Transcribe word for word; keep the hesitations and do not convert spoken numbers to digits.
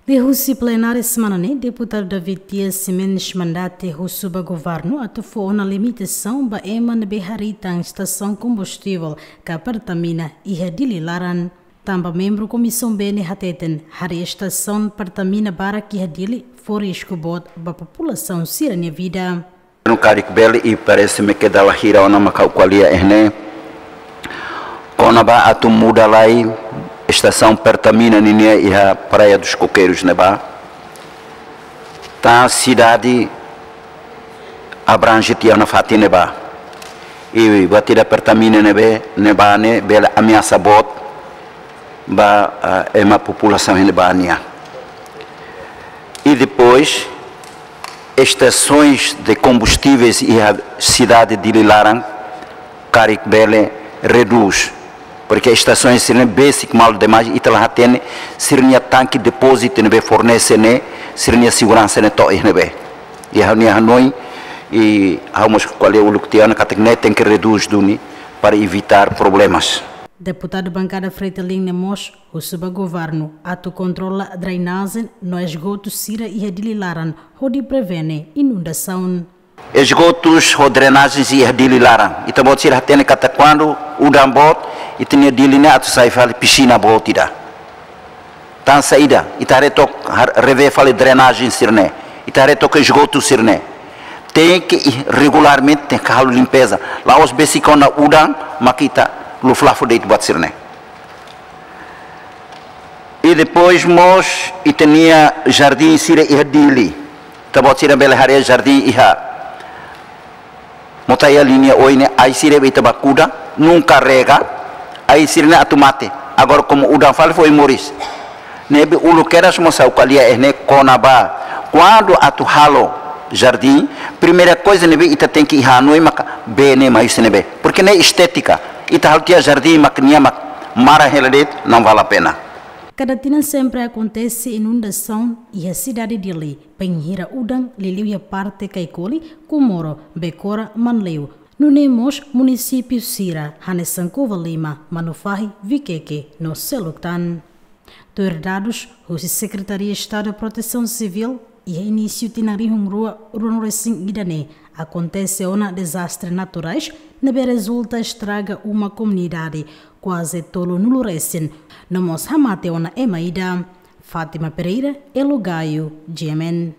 Liuhusi plenária semana ne'e, Deputadu David Dias Ximenes mandate husu ba governu atu fó ona limitasaun ba ema ne'ebé harii tan estasaun kombustivel ka Pertamina iha Dili laran. Tanba membru Komisaun B ne'e hateten, harii estasaun Pertamina barak iha Dili fó risku boot ba populasaun sira-nia vida. No karik bele i parese-me ke dala hira ona maka ha'u ko'alia iha ne'e. Kona-ba atu muda lai estasaun Pertamina ninia iha Praia dos Coqueiros ne'ebá. Tan sidade abrange tiha ona fatin ne'ebá. I buat ida Pertamina ne'ebé, ne'ebá ne'e bele ameasa boot ba, ah, ema populasaun ne'ebá nian. E depois, estações de combustíveis iha sidade Dili laran, karik bele reduz. Porque estações sira-ne'e besik malu demais, ita la hatene sira-nia tanke depózitu ne'ebé fornese ne'e, sira-nia seguransa ne'e to'o iha ne'ebé. I ha'u-nia hanoin, i ha'u mós ko'alia uluk tiha ona katak ne'e tenke reduz duni para evitar problemas. Deputadu bankada Fretilin ne'e mós husu ba governu atu kontrola drenajen no esgotu sira iha Dili laran hodi prevene inundasaun. Esgotus ho drenajen iha Dili laran. Ita-boot sira hatene katak kuandu udan boot, ita-nia Dili ne'e atu sai fali pisina boot ida. Tan saida, ita haree took har-, revee fali drenajen sira-ne'e. Ita haree took esgotu sira-ne'e. Tenke i regularmente tenke halo limpeza. La'ós besik ona udan, maka ita luflafu de'it buat sira-ne'e. I depois mós ita-nia jardín sira iha Dili. Ita-boot sira bele haree jardín iha Motaia liña oin ne'e, ai sira be ita bá kuda, nunka rega, ai sira-ne'e atu mate. Agora komu udan fali foin moris. Ne'ebé uluk kedas mós ha'u ko'alia iha ne'e kona-ba. Kuandu atu halo jardín, primeira coisa ne'ebé ita tenke iha hanoin maka bee ne'e mai husi ne'ebé. Porque ne'e estétika. Ita halo tiha jardín mak nia mak mara hela de'it, não vale a pena. Kada tinan sempre akontese inundasaun iha sidade Dili, bainhira udan liuliu iha parte Kaikoli, Comoro, Becora, Manleu. Nune'e mós munisípiu sira hanesan Covalima, Manufahi, Viqueque no seluk tan. Tuir dadus husi Sekretaria Estadu Protesaun Sivíl, iha inísiu tinan rihun rua ruanulu-resin-ida ne'e akontese ona dezastre naturais ne'ebé rezulta estraga uma komunidade kuaze tolunulu resin, no mós hamate ona ema ida. Fátima Pereira, Elo Gaio, G M N.